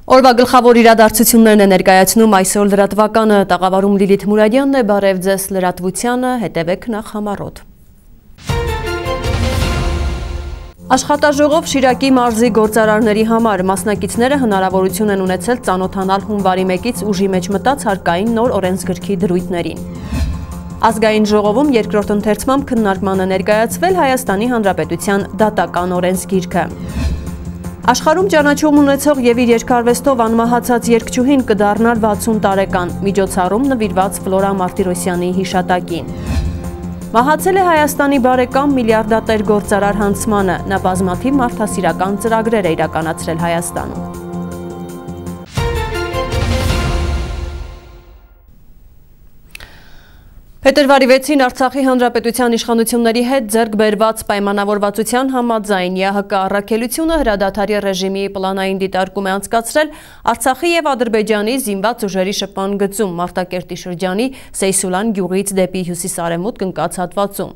Օրվա գլխավոր իրադարձություններն է ներկայացնում այսօր լրատվականը, տաղավարում Լիլիթ Մուրադյանն է, բարև ձեզ լրատվությանը, հետևեք նախ համառոտ։ Աշխատաժողով Շիրակի մարզի գործարարների համար մասնակիցները հնարավորություն են ունեցել ծանոթանալ հունվարի 1-ից ուժի մեջ մտած հարկային նոր օրենսգրքի դրույթներին։ Ազգային ժողովում երկրորդ ընթերցմամբ քննարկման է ներկայացվել Հայաստանի Հանրապետության դատական օրենսգիրքը։ Աշխարհում ճանաչում ունեցող եւ իր երկարվեստով անմահացած երգչուհին կդառնար 60 տարեկան, միջոցառում նվիրված Ֆլորա Մարտիրոսյանի հիշատակին։ Մահացել է Հայաստանի բարեկամ միլիարդատեր գործարար Հանցմանը, նա բազմաթիվ մարդասիրական ծրագրեր է իրականացրել Հայաստանում։ Փետրվարի 6-ին Արցախի Հանրապետության իշխանությունների հետ ձեռք բերված պայմանավորվածության համաձայն ԵԱՀԿ առաքելությունը հրադադարի ռեժիմի պլանային դիտարկում է անցկացրել Արցախի եւ Ադրբեջանի զինված ուժերի շփման գծում Մարտակերտի շրջանի Սեյսուլան գյուղից դեպի հյուսիս-արևմուտք ընկած հատվածում։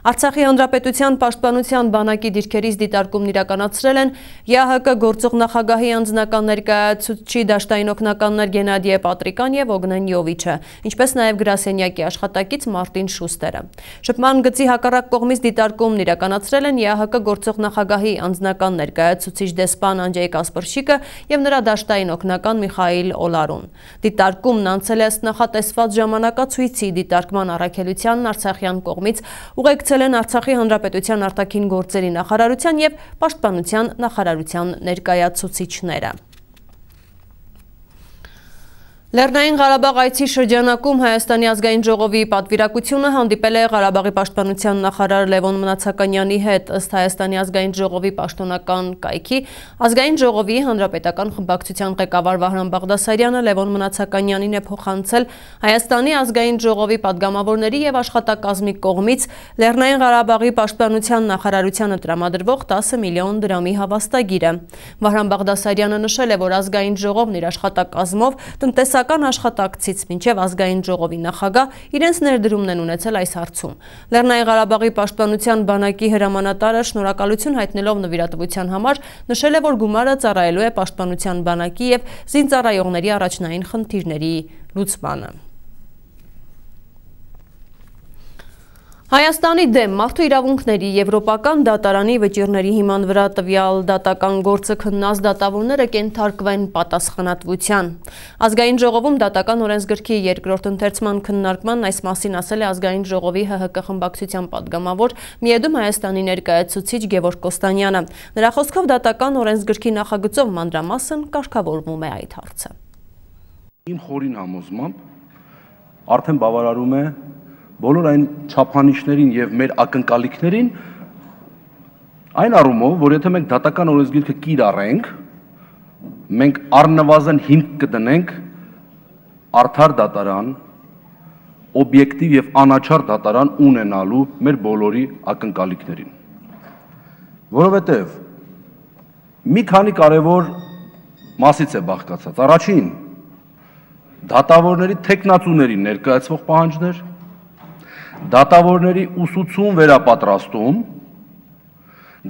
Արցախի Հանրապետության պաշտպանության բանակի դիրքերից դիտարկումն իրականացրել են ԵԱՀԿ գործող նախագահի անձնական ներկայացուցիչ դաշտային օգնականներ Գենադիե Պատրիկան եւ Օգնեն Յովիչը, ինչպես նաեւ գրասենյակի աշխատակից Մարտին Շուստերը։ Շփման գծի հակառակ կողմից դիտարկումն իրականացրել են ԵԱՀԿ գործող նախագահի անձնական ներկայացուցիչ դեսպան Անջեյ Կասպրշիկը եւ նրա դաշտային օգնական Միխայիլ Օլարուն։ Դիտարկումն անցել է ըստ նախատեսված ժամանակացույցի, դիտարկման առաքելությանն արցախյան կողմից ուղեկցել են Արցախի Հանրապետության արտաքին գործերի նախարարության եւ պաշտպանության նախարարության ներկայացուցիչները։ Լեռնային Ղարաբաղ այցի շրջանակում Հայաստանի ազգային ժողովի պատվիրակությունը հանդիպել է Ղարաբաղի պաշտպանության նախարար Լևոն Մնացականյանի հետ, ըստ Հայաստանի ազգային ժողովի պաշտոնական կայքի, ազգային ժողովի հանրապետական խմբակցության ղեկավար Վահրամ Բաղդասարյանը Լևոն Մնացականյանին է փոխանցել Հայաստանի ազգային ժողովի падգամավորների եւ աշխատակազմի կողմից Լեռնային Ղարաբաղի պաշտպանության նախարարությանը տրամադրվող 10 միլիոն դրամի հավաստագիրը։ Վահրամ Բաղդասարյանը նշել է, որ ազգային ժողովն իր աշխատակազմով տնտեսական աշխատակցից մինչև ազգային ժողովի նախագահ իրենց ներդրումն են ունեցել այս հարցում։ Լեռնային Ղարաբաղի պաշտպանության բանակի հրամանատարը շնորհակալություն հայտնելով նվիրատվության համար նշել է, որ գումարը ծառայելու է պաշտպանության բանակի եւ զինծառայողների առաջնային խնդիրների լուծմանը։ Հայաստանի դեմ մարդու իրավունքների եվրոպական դատարանի վճիռների հիման վրա տվյալ դատական գործը քննած դատավորները կենթարկվեն պատասխանատվության։ Ազգային ժողովում դատական օրենսգրքի երկրորդ ընթերցման քննարկման այս մասին ասել է ազգային ժողովի ՀՀԿ խմբակցության падգամավոր Միեդում Հայաստանի ներկայացուցիչ Գևորգ Կոստանյանը։ Նրա խոսքով դատական օրենսգրքի նախագծով մանրամասն կարգավորվում է այդ հարցը։ Իմ խորին համոզմամբ արդեն բավարարում է բոլոր այն չափանիշներին եւ մեր ակնկալիքներին այն առումով, որ եթե մենք դատական օրենսգիրքը կիրառենք, մենք առնվազն հիմք կդնենք արդար դատարան, օբյեկտիվ եւ անաչառ դատարան ունենալու մեր բոլորի ակնկալիքներին։ Որովհետեւ մի քանի կարևոր մասից է բաղկացած։ Առաջին, դատավորների թեկնածուների ներկայացվող պահանջներ, դատավորների ուսուցում վերապատրաստում,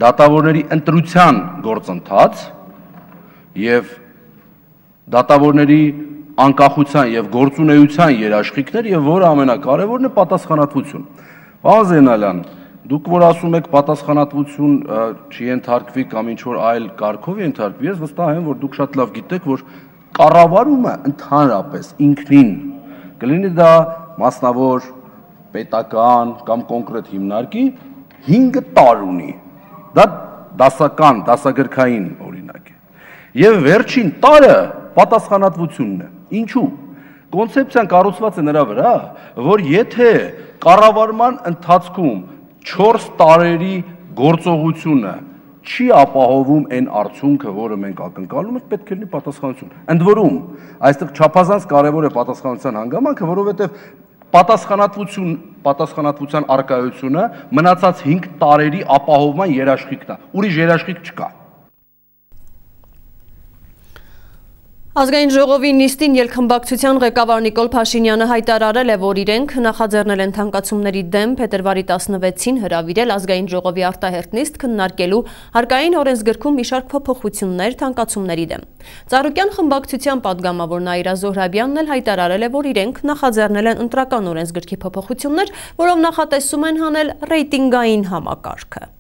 դատավորների ընտրության գործընթաց եւ դատավորների անկախության եւ գործունեության երաշխիքներ եւ որը ամենակարևորն է պատասխանատվություն։ Պարոն Զենալյան, դուք որ ասում եք պատասխանատվություն չենթարկվի կամ ինչ որ այլ կարգով ենթարկվի, ես վստահ եմ, որ դուք շատ լավ գիտեք, որ կառավարումը ընդհանրապես ինքնին կլինի դա մասնավոր պետական կամ կոնկրետ հիմնարկի 5 տար ունի, դա դասական, դասագրքային օրինակ է, և վերջին տարը պատասխանատվությունն է, ինչու, կոնցեպցիան կառուցված է նրա վրա, որ եթե կառավարման ընթացքում 4 տարերի գործողությունը չի ապահովում այն արդյունքը, որը մենք ակնկալում ենք, պետք է լինի պատասխանատվություն, ընդ որում, այստեղ չափազանց կարևոր է պատասխանատվության հանգամանքը, որովհետև պատասխանատվության առկայությունը մնացած 5 տարերի ապահովման երաշխիքն է, ուրիշ երաշխիք չկա։ Ազգային ժողովի նիստին ելքխմբակցության ղեկավար Նիկոլ Փաշինյանը հայտարարել է, որ իրենք նախաձեռնել են թանկացումների դեմ փետրվարի 16-ին հրավիրել ազգային ժողովի արտահերթ նիստ քննարկելու հարկային օրենսգրքում մի շարք փոփոխություններ թանկացումների դեմ։ Ծառուկյան խմբակցության падգամավոր Նաիրա Զոհրաբյանն էլ հայտարարել է, որ իրենք նախաձեռնել են ընտրական օրենսգրքի փոփոխություններ, որով նախատեսում են հանել ռեյտինգային համակարգը։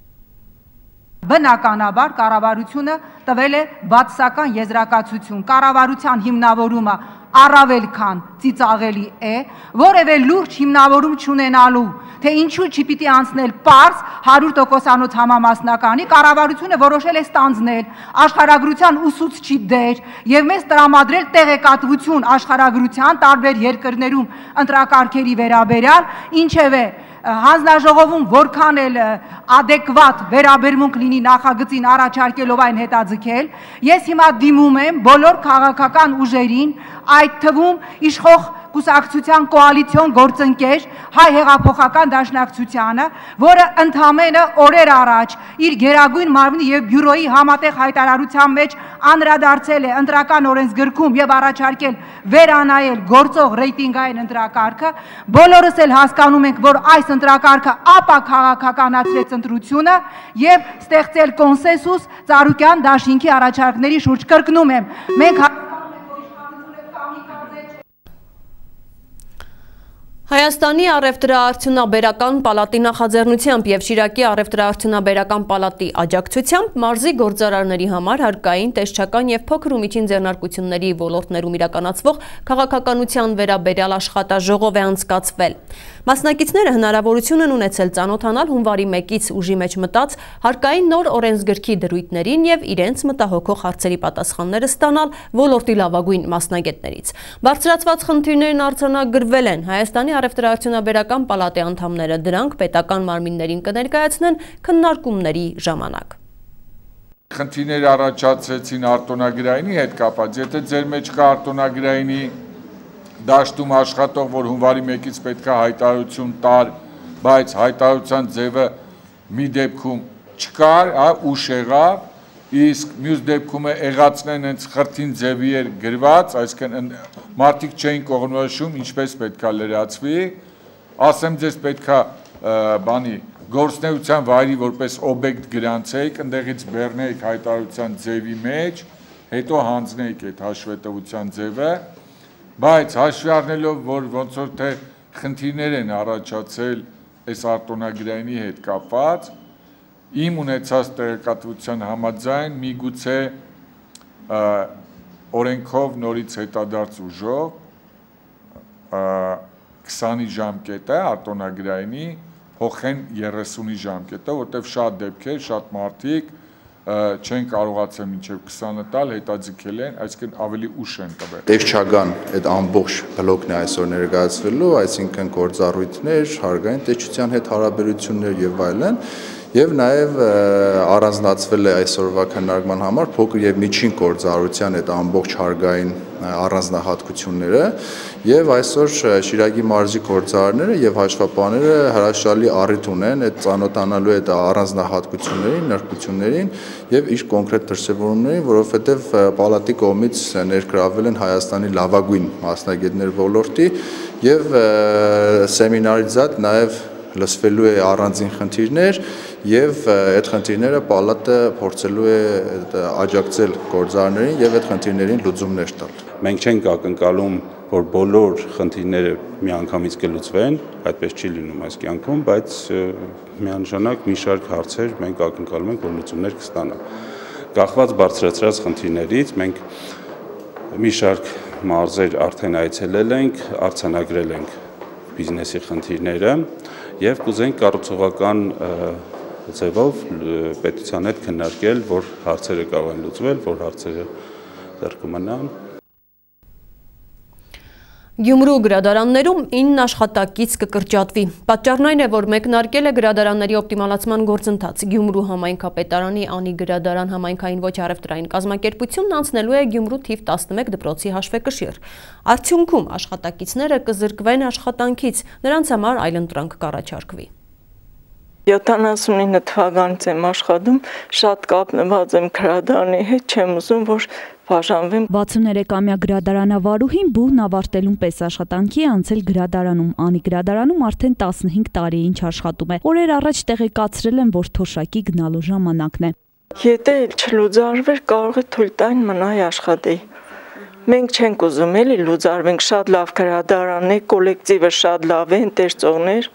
Բնականաբար կառավարությունը տվել է բացասական եզրակացություն, կառավարության հիմնավորումը առավել քան ծիծաղելի է, որևէ լուրջ հիմնավորում չունենալու, թե ինչու չպիտի անցնել պարզ 100%-անոց համամասնականի, կառավարությունը որոշել է ստանձնել աշխարհագրության ուսուցչի դեր եւ մեզ տրամադրել տեղեկատվություն աշխարհագրության տարբեր երկրներում ընտրակարգերի վերաբերյալ, ինչևէ հանձնաժողովում որքան էլ adekvat վերաբերմունք լինի նախագծին առաջարկելով այն հետաձգել, ես հիմա դիմում եմ բոլոր քաղաքական ուժերին, այդ թվում իշխող կուսակցության կոալիցիոն գործընկեր Հայ հեղափոխական դաշնակցությանը, որը ընդամենը օրեր առաջ իր գերագույն մարմնի եւ բյուրոյի համատեղ հայտարարության մեջ անդրադարձել է ընտրական օրենսգրքում եւ առաջարկել վերանայել գործող ռեյտինգային ընտրակարգը, բոլորս էլ հասկանում ենք, որ այս ընտրակարգը ապաքաղաքականացրեց ընտրությունը եւ ստեղծել կոնսենսուս Ծառուկյան դաշինքի առաջարկների շուրջ։ Կրկնում եմ, մենք Հայաստանի առևտրաարդյունաբերական պալատի նախաձեռնությամբ եւ Շիրակի առևտրաարդյունաբերական պալատի աջակցությամբ մարզի գործարարների համար հարկային, տեսչական եւ փոքր ու միջին ձեռնարկությունների ոլորտներում իրականացվող քաղաքականության վերաբերյալ աշխատաժողով է անցկացվել։ Մասնակիցները հնարավորություն են ունեցել ծանոթանալ հունվարի 1-ից ուժի մեջ մտած հարկային նոր օրենսգրքի դրույթներին եւ իրենց մտահոգող հարցերի պատասխանները ստանալ ոլորտի լավագույն մասնագետներից։ Բարձրացված խնդիրներն արձանագրվել են Հայաստանի առևտրաարդյունաբերական պալատի անդամները, դրանք պետական մարմիններին կներկայացնեն քննարկումների ժամանակ։ Խնդիրներ առաջացրեցին արտոնագրայինի հետ կապված, եթե ձեր մեջ կա արտոնագրայինի դաշտում աշխատող, որ հունվարի 1-ից պետք է հայտարարություն տար, բայց հայտարարության ձևը մի դեպքում չկար, ուշ եղավ, իսկ մյուս դեպքում եղածնեն հենց խրթին ձևի էր գրված, այսինքն մարդիկ չէին կողմնորոշում, ինչպես պետք է լրացվի, ասեմ ձեզ պետք է գործնեության վայրի որպես օբյեկտ գրանցեիք, ընդեղից բեռնեիք հայտարարության ձևի մեջ, հետո հանձնեիք այդ հաշվետվության ձևը, բայց հաշվի առնելով, որ ոնց որ թե խնդիրներ են առաջացել այս արտոնագրայինի հետ կապված, իմ ունեցած տեղեկատվության համաձայն միգուցե օրենքով նորից հետադարձ ուժով 20-ի ժամկետը արտոնագրայինի փոխեն 30-ի ժամկետը, որտեղ շատ դեպքեր, շատ մարդիկ չեն կարողացել մինչև 20-ը տալ, հետաձգել են, այսինքն ավելի ուշ են տվել։ Տեսչական այդ ամբողջ բլոկն է այսօր ներկայացվելու, այսինքն գործառույթներ, հարկային տեսչության հետ հարաբերություններ եւ այլն, եւ նաեւ առանձնացվել է այսօրվա քննարկման համար փոքր եւ միջին գործառույթության այդ ամբողջ հարկային առանձնահատկությունները եւ այսօր Շիրակի մարզի գործարարները եւ հաշվապահները հրաշալի առիթ ունեն այդ ծանոթանալու այդ առանձնահատկություններին, նրբություններին եւ իր կոնկրետ դրսեւորումներին, որովհետեւ պալատի կողմից ներգրավել են Հայաստանի լավագույն մասնագետներ ոլորտի եւ սեմինարից զատ նաեւ լսվելու է առանձին խնդիրներ եւ այդ խնդիրները պալատը փորձելու է աջակցել գործարարներին եւ այդ խնդիրներին լուծումներ տալ։ Մենք չենք ակնկալում, որ բոլոր խնդիրները միանգամից կլուծվեն, այդպես չի լինում այս կյանքում, բայց միանշանակ մի շարք հարցեր մենք ակնկալում ենք, որ լուծումներ կստանան։ Կախված բարձրացրած խնդիրներից մենք մի շարք մարզեր արդեն այցելել ենք, արձանագրել ենք բիզնեսի խնդիրները եւ կուզենք կառուցողական ձևով պետության հետ քննարկել, որ հարցերը կարող են լուծվել, որ հարցերը դեռ կմնան։ Գյումրու գրադարաններում 9 աշխատակից կկրճատվի։ Պատճառն այն է, որ մեկնարկել է գրադարանների օպտիմալացման գործընթաց։ Գյումրու համայնքապետարանի Անի գրադարան համայնքային ոչ առևտրային կազմակերպությունն անցնելու է Գյումրու թիվ 11 դպրոցի հաշվեկշիռ։ Արդյունքում աշխատակիցները կզրկվեն աշխատանքից, նրանց համար այլընտրանք կառաջարկվի։ 79 թվականից եմ աշխատում, շատ կապնված եմ գրադարանի հետ, չեմ ուզում, որ բաժանվեմ։ 63-ամյա գրադարանավարուհին բուհն ավարտելուն պես աշխատանքի է անցել գրադարանում։ Անի գրադարանում արդեն 15 տարի է ինչ աշխատում է։ Օրեր առաջ տեղեկացրել են, որ թոշակի գնալու ժամանակն է։ Եթե չլուծարվեր, կարող է թույլ տային մնայի աշխատեի։ Մենք չենք ուզում էլի լուծարվենք, շատ լավ գրադարան է, կոլեկտիվը շատ լավ է, ընկերներ,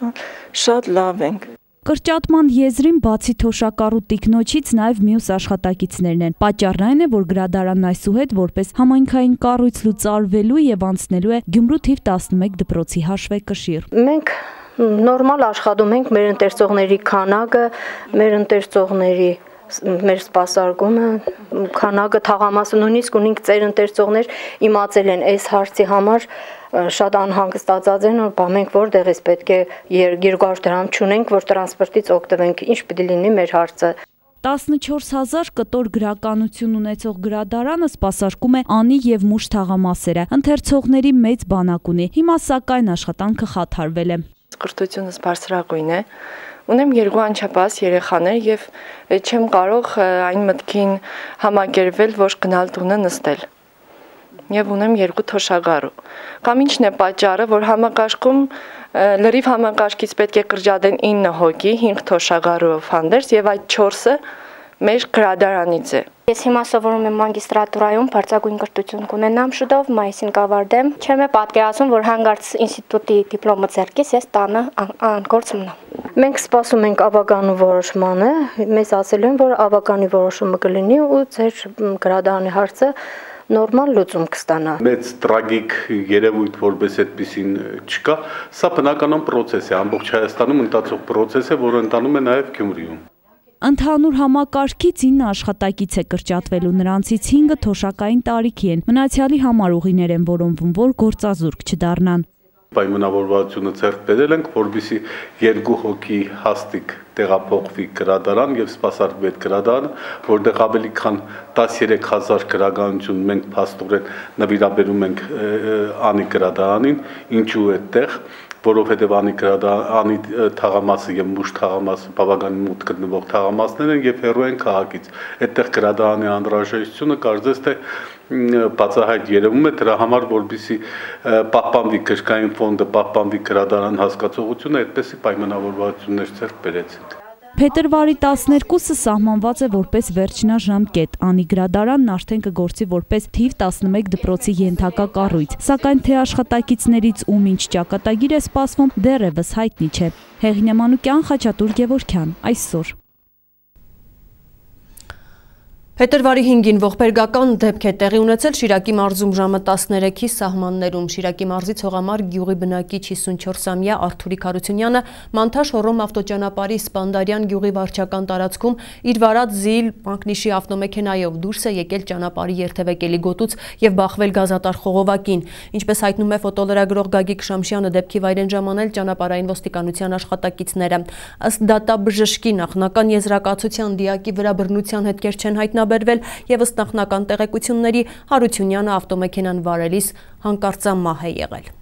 շատ լավ ենք։ Կրճատման եզրին բացի թոշակառու տիկնոջից նաև մյուս աշխատակիցներն են։ Պատճառն այն է, որ գրադարանն այսուհետ որպես համայնքային կառույց լուծարվելու եւ անցնելու է Գյումրու թիվ 11 դպրոցի հաշվեկշիռ։ Մենք նորմալ աշխատում ենք, մեր ընկերությունների քանակը, մեր սպասարկումը, քանակը, թաղամասը, նույնիսկ ունենք ծեր ընկերություններ իմացել են այս հարցի համար շատ անհանգստացած են, որ մենք որտեղից պետք է 200 դրամ չունենք, որ տրանսպորտից օգտվենք, ինչ պիտի լինի մեր հարցը։ 14,000 կտոր գրականություն ունեցող գրադարանը սպասարկում է անի եւ մուշ թաղամասերը։ Ընթերցողների մեծ բանակ ունի։ Հիմա սակայն աշխատանքը խաթարվել է։ Կրթությունս բարձրագույն է։ Ունեմ 2 անչափահաս երեխաներ եւ չեմ կարող այն մտքին համակերպվել, որ գնալ տունը նստել։ Եվ ունեմ 2 թոշակառու։ Կամ ինչն է պատճառը, որ համակարգում լրիվ համակարգից պետք է կրճատեն 9 հոգի, 5 թոշակառուով հանդերձ եւ այդ 4-ը մեր գրադարանից է։ Ես հիմա սովորում եմ մագիստրատուրայում, բարձրագույն կրթություն կունենամ շուտով, մայիսին կավարտեմ։ Չեմ պատկերացնում, որ հանգարց ինստիտուտի դիպլոմը ձեռքիս ես տանը անգործ մնամ։ Մենք սպասում ենք ավագանու որոշմանը, մեզ ասել են, որ ավագանի որոշումը կլինի ու ձեր գրադարանի հարցը նորմալ լուծում կստանա։ Մեծ տրագիկ երևույթ որպես այդպեսին չկա, սա բնականon process է, ամբողջ Հայաստանում ընթացող process է, որը ընթանում է նաև Գյումրիում։ Ընդհանուր համակարգից 9 աշխատակից է կրճատվելու, նրանցից 5-ը թոշակային տարիքի են, մնացյալի համար ուղիներ են որոնվում, որ գործազուրկ չդառնան։ Պայմանավորվածությունը ձեռք բերել ենք, որպեսզի 2 հոգի հաստիկ տեղափոխվի գրադարան եւ սպասարկվի այդ գրադարանը, որտեղ ավելի քան 13000 գրականություն մենք փաստորեն նվիրաբերում ենք անի գրադարանին, ինչու այդտեղ, որովհետև անի թաղամասը եւ մուշ թաղամասը բավականին մոտ գտնվող թաղամասներ են եւ հեռու են քաղաքից։ Այդտեղ գրադարանի անհրաժեշտությունը կարծես թե բացահայտ երևում է, դրա համար որպեսզի պահպանվի գրքային ֆոնդը, պահպանվի գրադարան հասկացողությունը, այդպեսի պայմանավորվածություններ ձեռք բերեցինք։ Փետրվարի 12-ը սահմանված է որպես վերջնաժամկետ, անի գրադարանն արդեն կգործի որպես թիվ 11 դպրոցի ենթակա կառույց, սակայն թե աշխատակիցներից ում ինչ ճակատագիր է սպասվում, դեռևս հայտնի չէ։ Հեղինե Մանուկյան, Խաչատուր Գևորգյան, այսօր։ Փետրվարի 5-ին ողբերգական դեպք է տեղի ունեցել Շիրակի մարզում ժամը 13-ի սահմաններում։ Շիրակի մարզի Ցողամար գյուղի բնակիչ 54-ամյա Արթուրիկ Հարությունյանը Մանթաշ-Հոռոմ ավտոճանապարհի Սպանդարյան գյուղի վարչական տարածքում իր վարած զիլ մակնիշի ավտոմեքենայով դուրս է եկել ճանապարհի երթևեկելի գոտուց եւ բախվել գազատար խողովակին։ Ինչպես հայտնում է ֆոտոլրագրող Գագիկ Շամշյանը, դեպքի վայր են ժամանել ճանապարհային ոստիկանության աշխատակիցները։ Ըստ դատաբժշկի նախնական եզրակացության դիակի վրա բռնության հետքեր չեն հայտնաբերվել եւ ըստ նախնական տեղեկությունների Հարությունյանը ավտոմեքենան վարելիս հանկարծամահ է եղել։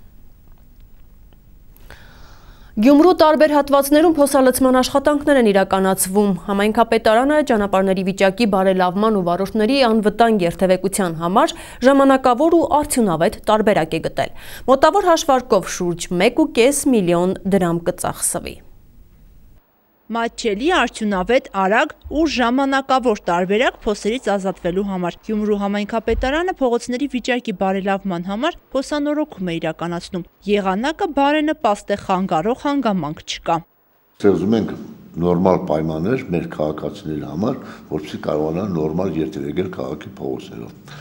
Գյումրու տարբեր հատվածներում փոսալցման աշխատանքներ են իրականացվում։ Համայնքապետարանը ճանապարհների վիճակի բարելավման ու վարորդների անվտանգ երթևեկության համար ժամանակավոր ու արդյունավետ տարբերակ է գտել։ Մոտավոր հաշվարկով շուրջ 1.5 միլիոն դրամ կծախսվի։ Մատչելի, արդյունավետ, արագ ու ժամանակավոր տարբերակ փոսերից ազատվելու համար։ Գյումրու համայնքապետարանը փողոցների վիճակի բարելավման համար փոսանորոգում է իրականացնում։ Եղանակը բարենպաստ է, խանգարող հանգամանք չկա։ Ստեղծում ենք նորմալ պայմաններ մեր քաղաքացիների համար, որպեսզի կարողանան նորմալ երթևեկել քաղաքի փողոցներով։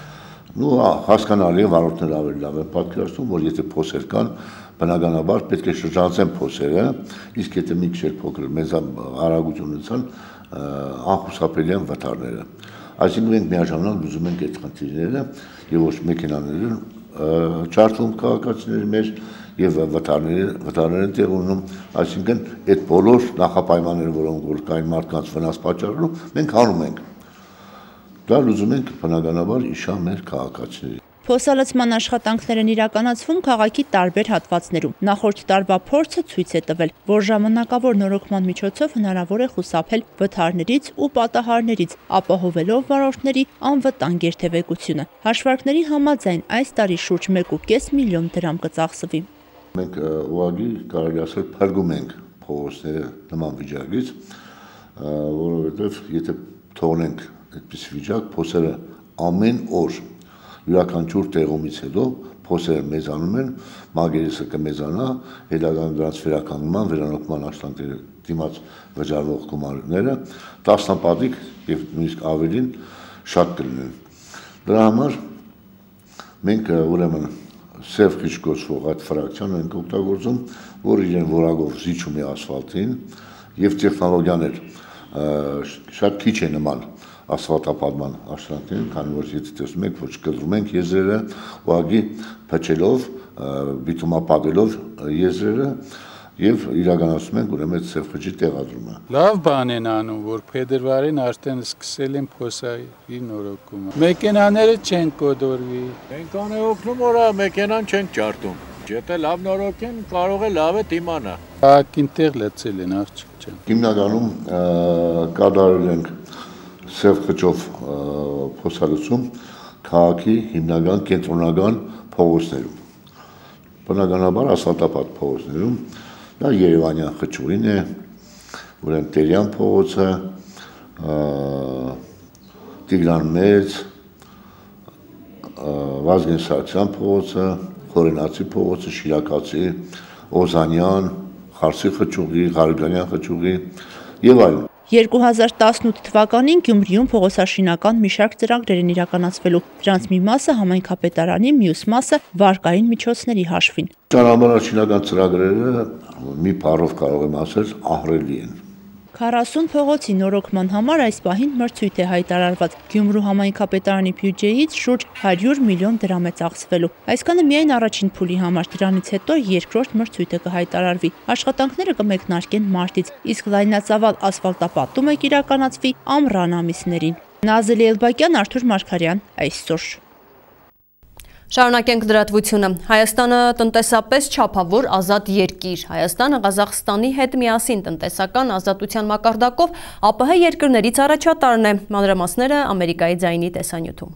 Հասկանալի է, վարորդները ավելի լավ են պատկերացնում, որ եթե փոսեր կան, բնականաբար պետք է շրջանցեն փոսերը, իսկ եթե մի քիչ փոքր մեծ արագություն ունեցան, անխուսափելի են վթարները։ Այսինքն մենք միաժամանակ լուծում ենք այդ խնդիրները եւ ոչ մեքենաները չարթվում քաղաքացիների մեջ եւ վթարները տեղ ունենում, այսինքն այդ բոլոր նախապայմանները, որոնք որ կային մարդկանց վնաս պատճառելու, մենք անում ենք։ Դա լուծում ենք բնականաբար իշա մեր քաղաքացիների։ Փոսալցման աշխատանքներ են իրականացվում քաղաքի տարբեր հատվածներում։ Նախորդ տարվա փորձը ցույց է տվել, որ ժամանակավոր նորոգման միջոցով հնարավոր է խուսափել վթարներից ու պատահարներից, ապահովելով վարորդների անվտանգ երթևեկությունը։ Հաշվարկների համաձայն այս տարի շուրջ 1.5 միլիոն դրամ կծախսվի։ Մենք ուղղակի կարելի ասել փրկում ենք փողոցները նման վիճակից, որովհետև եթե թողնենք այդպես վիճակ, փոսերը ամեն օր յուրաքանչյուր տեղումից հետո փոսերը մեծանում են, մագերեսը կմեծանա, հետագայում դրանց վերականգնման, վերանորոգման աշխատանքների դիմաց վճարվող գումարները տասնապատիկ եւ նույնիսկ ավելին շատ կլինեն։ Դրա համար մենք ուրեմն սև քիչ կոչվող այդ ֆրակցիան ենք օգտագործում, որ իրեն որակով զիջում է ասֆալտին եւ տեխնոլոգիաներ շատ քիչ է նման ասֆալտապատման աշխատանքներին, քանի որ եթե տեսնում եք, որ չկտրում ենք եզրերը, ուղղակի փչելով, բիտումապատելով եզրերը եւ իրականացնում ենք ուրեմն սև քիչի տեղադրումը։ Լավ բան են անում, որ փետրվարին արդեն սկսել են փոսայի նորոգումը։ Մեքենաները չեն կոդորվի։ Մենք անօգնում որա մեքենան չենք ջարդում։ Եթե լավ նորոգեն, կարող է լավ է դիմանա։ Ակին տեղ լցել են, աղջիկ ջան։ Հիմնականում կատարել ենք սև քչով փոսալցում քաղաքի հիմնական կենտրոնական փողոցներում։ Բնականաբար ասֆալտապատ փողոցներում դա Երևանյան խճուղին է, ուրեմն Տերյան փողոցը, Տիգրան Մեծ, Վազգեն Սարգսյան փողոցը, Խորենացի փողոցը, Շիրակացի, Օզանյան, Խարսի խճուղի, Ղարաբանյան խճուղի եւ այլն։ 2018 թվականին Գյումրիում փողոցաշինական մի շարք ծրագրեր են իրականացվելու։ Դրանց մի մասը համայնքապետարանի, մյուս մասը վարկային միջոցների հաշվին։ Ճանապարհաշինական ծրագրերը մի բառով կարող եմ ասել ահռելի են։ 40 փողոցի նորոգման համար այս պահին մրցույթ է հայտարարված։ Գյումրու համայնքապետարանի բյուջեից շուրջ 100 միլիոն դրամ է ծախսվելու։ Այսքանը միայն առաջին փուլի համար, դրանից հետո երկրորդ մրցույթը կհայտարարվի։ Աշխատանքները կմեկնարկեն մարտից, իսկ լայնածավալ ասֆալտապատումը կիրականացվի ամռան ամիսներին։ Նազելի Էլբակյան, Արթուր Մարգարյան, այսօր։ Շարունակենք լրատվությունը։ Հայաստանը տնտեսապես չափավոր ազատ երկիր։ Հայաստանը Ղազախստանի հետ միասին տնտեսական ազատության մակարդակով ԱՊՀ երկրներից առաջատարն է։ Մանրամասները Ամերիկայի ձայնի տեսանյութում։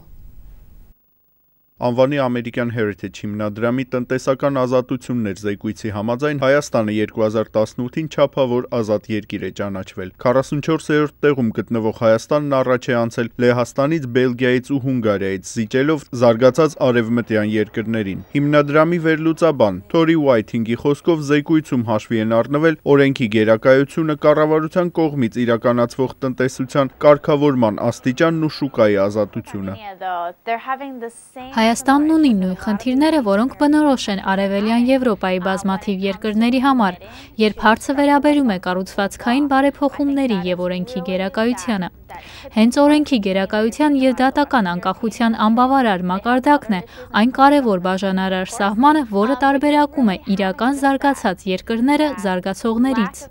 Անվանի ամերիկյան Heritage հիմնադրամի տնտեսական ազատություններ զեկույցի համաձայն Հայաստանը 2018-ին չափավոր ազատ երկիր է ճանաչվել։ 44-րդ տեղում գտնվող Հայաստանն առաջ է անցել Լեհաստանից, Բելգիայից ու Հունգարիայից, զիջելով զարգացած արևմտյան երկրներին։ Հիմնադրամի վերլուծաբան Թորի Ուայթինգի խոսքով զեկույցում հաշվի են առնվել օրենքի գերակայությունը, կառավարության կողմից իրականացվող տնտեսության կարգավորման աստիճանն ու շուկայի ազատությունը։ Հայաստանն ունի նույն խնդիրները, որոնք բնորոշ են Արևելյան Եվրոպայի բազմաթիվ երկրների համար, երբ հարցը վերաբերում է կառուցվածքային բարեփոխումների եւ օրենքի գերակայությանը։ Հենց օրենքի գերակայության եւ դատական անկախության անբավարար մակարդակն է այն կարևոր բաժանարար սահմանը, որը տարբերակում է իրական զարգացած երկրները զարգացողներից։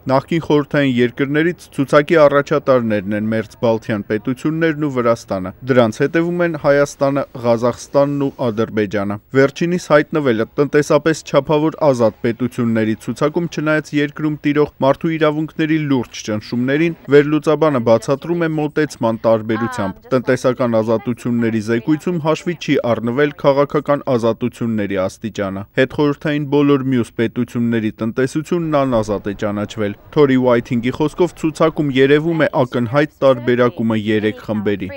Նախկին խորհրդային երկրներից ցուցակի առաջատարներն են Մերձբալթյան պետություններն ու Վրաստանը։ Դրանց հետևում են Հայաստանը, Ղազախստանն ու Ադրբեջանը։ Վերջինիս հայտնվելը տնտեսապես չափավոր ազատ պետությունների ցուցակում չնայած երկրում տիրող մարդու իրավունքների լուրջ ճնշումներին, վերլուծաբանը բացատրում է մոտեցման տարբերությամբ։ Տնտեսական ազատությունների զեկույցում հաշվի չի առնվել քաղաքական ազատությունների աստիճանը։ Հետխորհրդային բոլոր մյուս պետությունների տնտեսությունն անազատ է ճանաչվել։ Թորի Ուայթինգի խոսքով ցուցակում երևում է ակնհայտ տարբերակումը 3 խմբերի։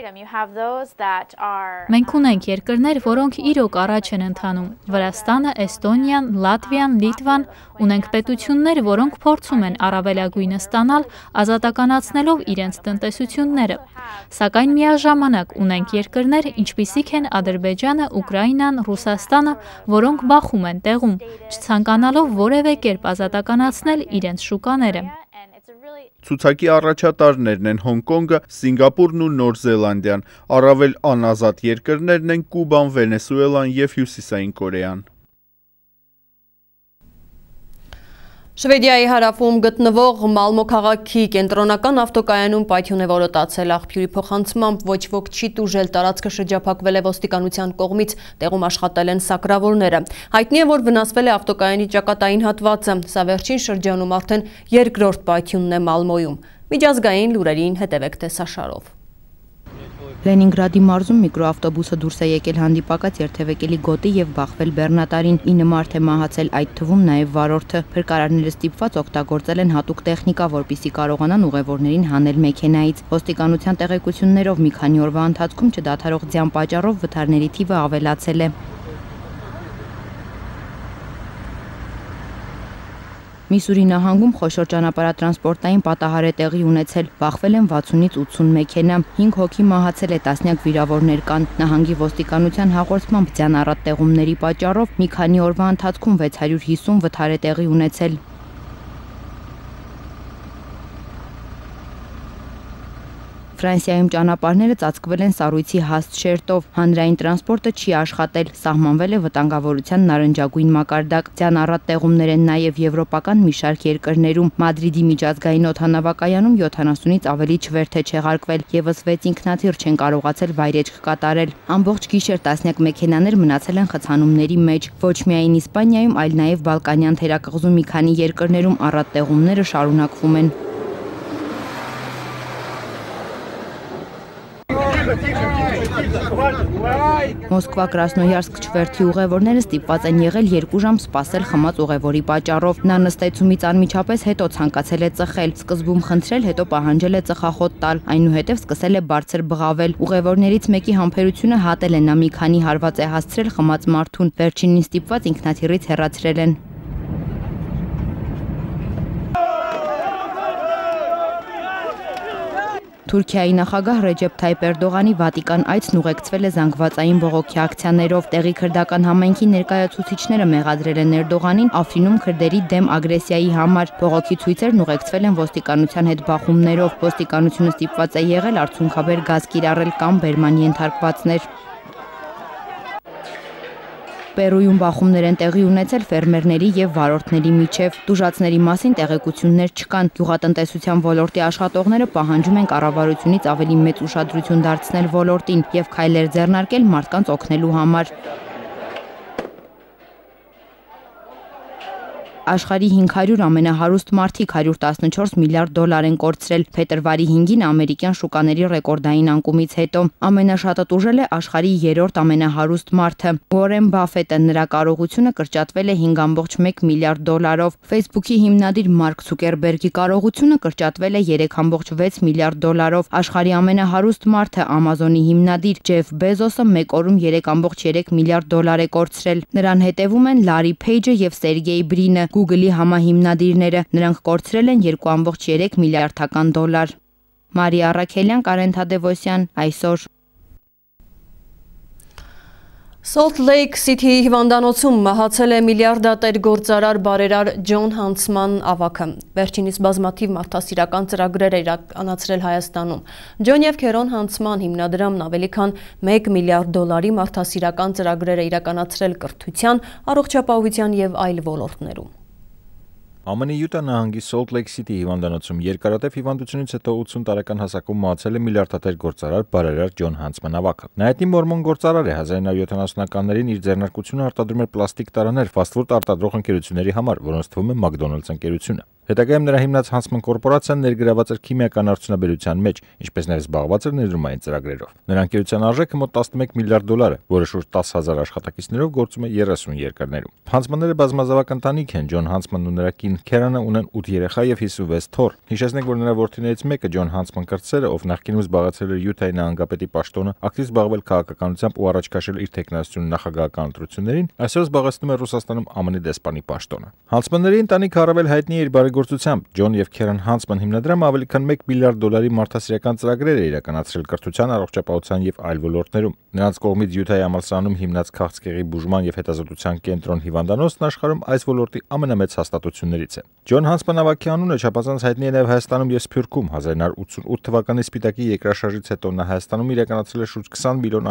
Մենք ունենք երկրներ, որոնք իրոք առաջ են ընթանում։ Վրաստանը, Էստոնիան, Լատվիան, Լիտվան, ունենք պետություններ, որոնք փորձում են առավելագույնը ստանալ, ազատականացնելով իրենց տնտեսությունները։ Սակայն միաժամանակ ունենք երկրներ, ինչպիսիք են Ադրբեջանը, Ուկրաինան, Ռուսաստանը, որոնք բախում են տեղում, չցանկանալով որևէ կերպ ազատականացնել իրենց շուկաները։ Ցուցակի առաջատարներն են Հոնկոնգը, Սինգապուրն ու Նոր Զելանդիան, առավել անազատ երկրներն են Կուբան, Վենեսուելան և Հյուսիսային Կորեան։ Շվեդիայի հարավում գտնվող Մալմո քաղաքի կենտրոնական ավտոկայանում պայթյուն է որոտացել աղբյուրի փոխանցմամբ ոչ ոք չի տուժել, տարածքը շրջափակվել է ոստիկանության կողմից, տեղում աշխատել են սակրավորները։ Հայտնի է, որ վնասվել է ավտոկայանի ճակատային հատվածը, սա վերջին շրջանում արդեն երկրորդ պայթյունն է Մալմոյում։ Միջազգային լուրերին հետևեք տեսաշարով։ Լենինգրադի մարզում միկրոավտոբուսը դուրս է եկել հանդիպակաց երթևեկելի գոտի եւ բախվել բեռնատարին, 9 մարդ է մահացել, այդ թվում նաեւ վարորդը։ Փրկարարները ստիպված օգտագործել են հատուկ տեխնիկա, որպեսզի կարողանան ուղևորներին հանել մեքենայից։ Ոստիկանության տեղեկություններով մի քանի օրվա ընթացքում չդադարող ձյան պատճառով վթարների թիվը ավելացել է։ Միսուրի նահանգում խոշոր ճանապարհատրանսպորտային պատահար է տեղի ունեցել, բախվել են 60-ից 80 մեքենա, 5 հոգի մահացել է, տասնյակ վիրավորներ կան։ Նահանգի ոստիկանության հաղորդմամբ ձյան առատ տեղումների պատճառով մի քանի օրվա ընթացքում 650 վթար է տեղի ունեցել։ Ֆրանսիայում ճանապարհները ծածկվել են սառույցի հաստ շերտով, հանրային տրանսպորտը չի աշխատել, սահմանվել է վտանգավորության նարնջագույն մակարդակ։ Ձյան առատ տեղումներ են նաև եվրոպական մի շարք երկրներում։ Մադրիդի միջազգային օդանավակայանում 70-ից ավելի չվերթ է չեղարկվել, եւս 6 ինքնաթիռ չեն կարողացել վայրեջք կատարել։ Ամբողջ գիշեր տասնյակ մեքենաներ մնացել են խցանումների մեջ։ Ոչ միայն Իսպանիայում, այլ նաև Բալկանյան թերակղզու մի քանի երկրներում առատ տեղումները շարունակվում են։ Մոսկվա Կրասնոյարսկ չվերթի ուղևորները ստիպված են եղել 2 ժամ սպասել խմած ուղևորի պատճառով։ Նա նստեցումից անմիջապես հետո ցանկացել է ծխել, սկզբում խնդրել, հետո պահանջել է ծխախոտ տալ, այնուհետև սկսել է բարձր բղավել։ Ուղևորներից մեկի համբերությունը հատել է, նա մի քանի հարված է հասցրել խմած մարդուն, վերջինին ստիպված ինքնաթիռից հեռացրել են։ Թուրքիայի նախագահ Ռեջեփ Թայիփ Էրդողանի Վատիկան այցն ուղեկցվել է զանգվածային բողոքի ակցիաներով։ Տեղի քրդական համայնքի ներկայացուցիչները մեղադրել են Էրդողանին Աֆրինում քրդերի դեմ ագրեսիայի համար։ Բողոքի ցույցերն ուղեկցվել են ոստիկանության հետ բախումներով։ Ոստիկանությունը ստիպված է եղել արդյունքաբեր գազ կիրառել կամ բերման ենթարկվածներ։ Պերույում բախումներ են տեղի ունեցել ֆերմերների եւ վարորդների միջև։ Տուժածների մասին տեղեկություններ չկան։ Գյուղատնտեսության ոլորտի աշխատողները պահանջում են կառավարությունից ավելի մեծ ուշադրություն դարձնել ոլորտին եւ քայլեր ձեռնարկել մարդկանց օգնելու համար։ Աշխարհի 500 ամենահարուստ մարդիկ 114 միլիարդ դոլար են կորցրել փետրվարի 5-ին ամերիկյան շուկաների ռեկորդային անկումից հետո։ Ամենաշատը տուժել է աշխարհի 3-րդ ամենահարուստ մարդը։ Ուորեն Բաֆետը, նրա կարողությունը կրճատվել է 5.1 միլիարդ դոլարով։ Facebook-ի հիմնադիր Մարկ Ցուկերբերգի կարողությունը կրճատվել է 3.6 միլիարդ դոլարով։ Աշխարհի ամենահարուստ մարդը Amazon-ի հիմնադիր Ջեֆ Բեզոսը մեկ օրում 3.3 միլիարդ դոլար է կորցրել։ Նրան հետևում են Լարի Փեյջը եւ Սերգեյ Բրինը, Google-ի համահիմնադիրները, նրանք կորցրել են 2.3 միլիարդական դոլար։ Մարիա Առաքելյան, Կարեն Թադևոսյան, այսօր։ Salt Lake City հիվանդանոցում մահացել է միլիարդատեր գործարար բարերար Ջոն Հանցման ավագը։ Վերջինիս բազմաթիվ մարդասիրական ծրագրեր է իրականացրել Հայաստանում։ Ջոն եւ Քերոն Հանցման հիմնադրամն ավելի քան 1 միլիարդ դոլարի մարդասիրական ծրագրեր է իրականացրել կրթության, առողջապահության եւ այլ ոլորտներում։ ԱՄՆ Յուտա նահանգի Salt Lake City հիվանդանոցում երկարատև հիվանդությունից հետո 80 տարեկան հասակում մահացել է միլիարդատեր գործարար բարերար Ջոն Հանցման ավագը։ Նա հայտնի մորմոն գործարար է, 1970-ականներին իր ձեռնարկությունը արտադրում էր պլաստիկ տարաներ ֆաստ-ֆուդ արտադրող ընկերությունների համար, որոնց թվում է McDonald's ընկերությունը։ Հետագայում նրա հիմնած Հանցման կորպորացիան ներգրաված էր քիմիական արդյունաբերության մեջ, ինչպես նաև զբաղված էր ներդրումային ծրագրերով։ Նրա ընկերության արժեքը մոտ 11 միլիարդ դոլար է, որը շուրջ 10,000 աշխատակիցներով գործում է 30 երկրներում։ Հանցմանները բազմազավակ ընտանիք են, Ջոն Հանցմանն ու նրա կին Քերանը ունեն 8 երեխա եւ 56 թոռ։ Հիշեցնենք, որ նրա որդիներից մեկը Ջոն Հանցման կրտսերը, ով նախկինում զբաղեցրել էր Յուտայի նահանգապետի պաշտոնը, ակտիվ զբաղվել քաղաքականությամբ ու առաջ քաշել իր տեխնասյուն նախագահական ընտրություններին, այսօր զբաղեցնում է Ռուսաստանում ԱՄՆ դեսպանի պաշտոնը։ Հանցմանների ընտանիքը առավել հայտնի է իր բարեգործ համագործությամբ Ջոն եւ Քերեն Հանցման հիմնադրամը ավելի քան $1 միլիարդ մարդասիրական ծրագրեր է իրականացրել կրթության, առողջապահության եւ այլ ոլորտներում։ Նրանց կողմից Յուտայի համալսարանում հիմնած քաղցկեղի բուժման եւ հետազոտության կենտրոն հիվանդանոցն աշխարհում այս ոլորտի ամենամեծ հաստատություններից է։ Ջոն Հանցման նավակի անունը չափազանց հայտնի է նաեւ Հայաստանում եւ Սփյուռքում։ 1988 թվականի Սպիտակի երկրաշարժից հետո նա Հայաստանում իրականացրել է շուրջ $20 միլիոն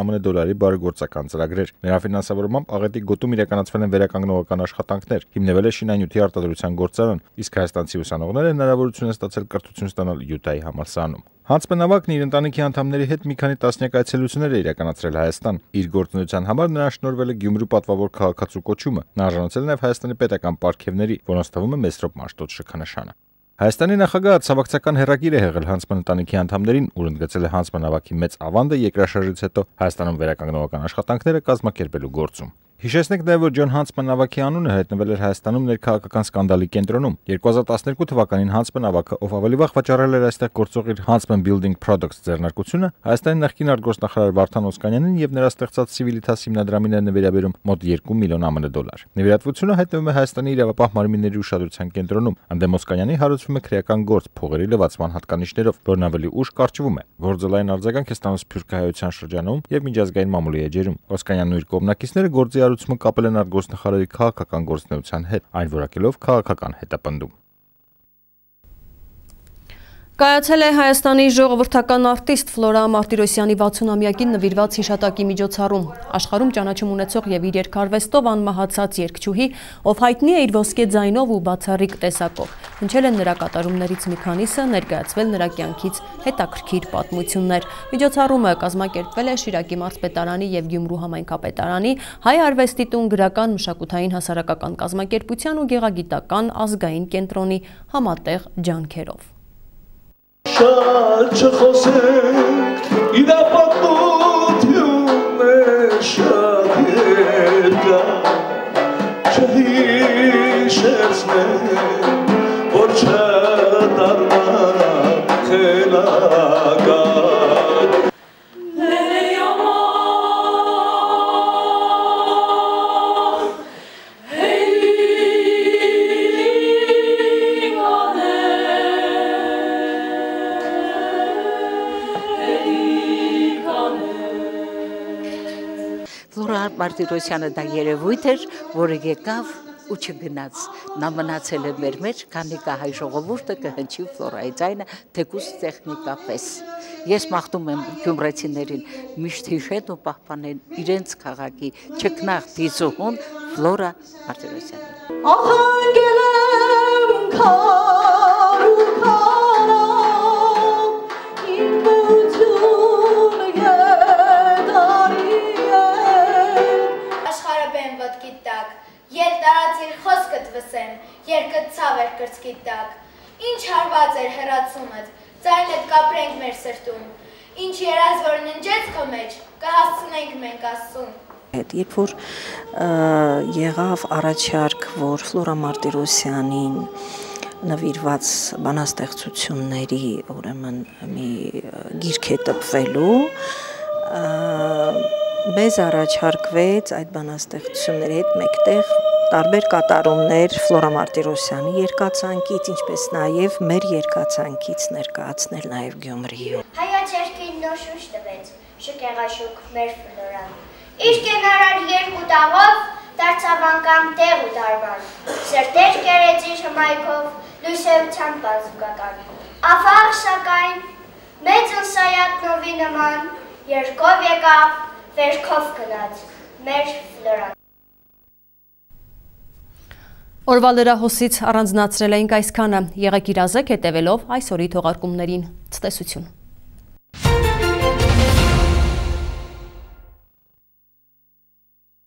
բարեգործական ծրագրեր։ Նրա ֆինանսավորմամբ աղետի գոտում իրականացվել են վերականգնողական աշխատանքներ, հիմնվել է շինանյութի արտադրության գործարան, իսկ հայաստանցի ուսանողները հնարավորություն են ստացել կրթություն ստանալ Յուտայի համալսարանում։ Հանցման նավակն իր ընտանիքի անդամների հետ մի քանի տասնյակ այցելություններ է իրականացրել Հայաստան։ Իր գործունեության համար նրան շնորհվել է Գյումրու պատվավոր քաղաքացու կոչումը։ Նա արժանացել է նաև Հայաստանի պետական պարգևների, որոնց թվում է Մեսրոպ Մաշտոց շքանշանը։ Հայաստանի նախագահը ցավակցական հերակիր է եղել Հանցման ընտանիքի անդամներին, ուր ընդգծել է Հանցման նավակի մեծ ավանդը երկրաշարժից հետո Հայաստանում վերականգնողական աշխատանքները կազմակերպելու գործում։ Հիշեցնենք նաև, որ Ջոն Հանցման նավակի անունը հայտնվել էր Հայաստանում ներքաղաքական սկանդալի կենտրոնում։ 2012 թվականին Հանցման նավակը, ով ավելի վաղ վաճառել էր այստեղ գործող իր Huntsman Building Products ձեռնարկությունը, Հայաստանի նախկին արտգործնախարար Վարդան Օսկանյանին եւ նրա ստեղծած Civitas հիմնադրամին է նվիրաբերում մոտ $2 միլիոն $։ Նվիրատվությունը հայտնվում է Հայաստանի իրավապահ մարմինների ուշադրության կենտրոնում։ Անդեմ Օսկանյանի հարուցվում է քրեական գործ փողերի լվացման հատկանիշներով, որն ավելի ուշ կարճվում է։ Գործելային արձագանք է ստանում սփյուռքահայության շրջանում եւ միջազգային մամուլի էջերում։ Օսկանյանն ու իր կողմնակիցները գործի հարուցումը կապել են արտգործնախարարի քաղաքական գործունեության հետ, այն որակելով քաղաքական հետապնդում։ Կայացել է Հայաստանի ժողովրդական արտիստ Ֆլորա Մարտիրոսյանի 60-ամյակին նվիրված հիշատակի միջոցառում։ Աշխարհում ճանաչում ունեցող եւ իր երգարվեստով անմահացած երգչուհի, ով հայտնի է իր ոսկե ձայնով ու բացառիկ տեսակով, հնչել են նրա կատարումներից մի քանիսը, ներկայացվել նրա կյանքից հետաքրքիր պատմություններ։ Միջոցառումը կազմակերպվել է Շիրակի մարզպետարանի եւ Գյումրու համայնքապետարանի, Հայ արվեստի տուն գրական մշակութային հասարակական կազմակերպության ու գեղագիտական ազգային կենտրոնի համատեղ ջանքերով։ Շատ չխոսենք, իրապատմություն է շատ երկար, չհիշեցնենք, որ չդառնանք խելագար։ Մարտիրոսյանը դա երևույթ էր, որը եկավ ու չգնաց։ Նա մնացել է մեր մեջ, քանի կա հայ ժողովուրդը կհնչի Ֆլորայի ձայնը թեկուզ տեխնիկապես։ Ես մաղթում եմ գյումրեցիներին միշտ հիշեն ու պահպանեն իրենց քաղաքի չքնաղ դիզուհուն Ֆլորա Մարտիրոսյանին։ Ետ տարածիր խոսքդ վսեմ, երկդ ցավեր կրծքիդ տակ, ինչ հարված էր հեռացումդ, ձայնդ կապրենք մեր սրտում, ինչ երազ որ ննջեց քո մեջ, կհասցնենք մենք Աստծուն։ Երբ որ եղավ առաջարկ, որ Ֆլորա Մարտիրոսյանին նվիրված բանաստեղծությունների ուրեմն մի գիրք է տպվելու, մեզ առաջարկվեց այդ բանաստեղծությունների հետ մեկտեղ տարբեր կատարումներ Ֆլորա Մարտիրոսյանի երկացանկից, ինչպես նաև մեր երկացանկից ներկայացնել նաև Գյումրիում։ Հայաչերքին նոր շունչ տվեց, շքեղաշուք մեր Ֆլորան։ Իր կենարար երկու տաղով դարձավ անգամ տեղ ու դարվան, սրտեր կերեց իր հմայքով լույսեության բազուկական։ افاق սակայն մեծ ընսայատնովի նման երկով եկավ, վերքով գնաց մեր Ֆլորան։ Օրվա լրահոսից առանձնացրել էինք այսքանը, եղեք իրազեկ հետևելով այսօրի թողարկումներին, ցտեսություն։